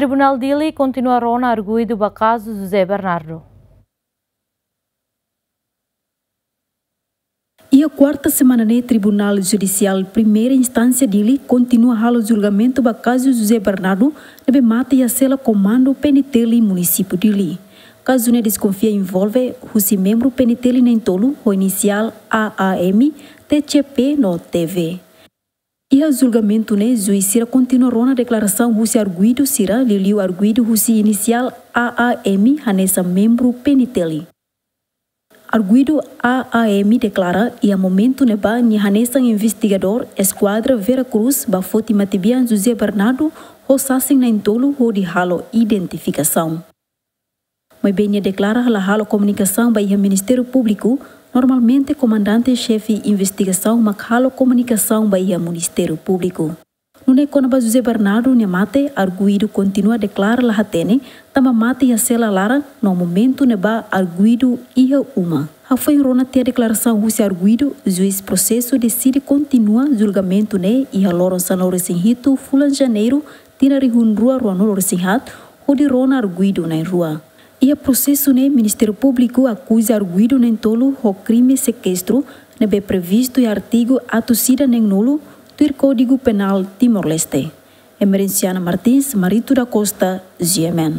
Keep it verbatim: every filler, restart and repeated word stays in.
Tribunál Dili kontinua rona arguidu ba kazu José Bernardo. Iha kuarta semana ne'e, Tribunál Judisiál Primeira Instánsia Dili kontinua halo julgamentu ba kazu José Bernardo, ne'ebé mate iha sela komandu P N T L Munisípiu Dili. Kazu ne'e deskonfia envolve husi membru P N T L na'in-tolu ho inisiál A A M, T C P no T V. Iha julgamentu ne'e, juís sira kontinua rona deklarasaun husi arguidu sira, liuliu arguidu husi inisiál A A M hanesan membru P N T L. Arguidu A A M deklara, iha momentu ne'ebá nia hanesan investigadór Eskuadra Vera Cruz bá foti matebian José Bernardo ho sasin na'in-tolu hodi halo identifikasaun. Maibé nia deklara la halo komunikasaun ba iha Ministériu Públiku, normalmente komandante xefe investigasaun mak halo komunikasaun ba iha Ministériu Públiku. Nune'e kona-ba José Bernardo nia mate, arguidu kontinua deklara la hatene, tanba mate iha sela laran, no momentu ne'ebá arguidu iha uma. Hafoin rona tiha deklarasaun husi arguidu, juís prosesu deside kontinua julgamentu ne'e iha loron sanulu-resin-hitu fulan Janeiru, tinan rihun rua ruanulu-resin-haat, hodi rona arguidu na'in-rua. Iha prosesu ne'e, Ministériu Públiku akuza arguidu na'in-tolu ho krime sekestru, ne'ebé previstu iha artigu atus ida neen-nulu, tuir Kódigu Penál Timor-Leste. Emerenciana Martins, Marito da Costa, G M N.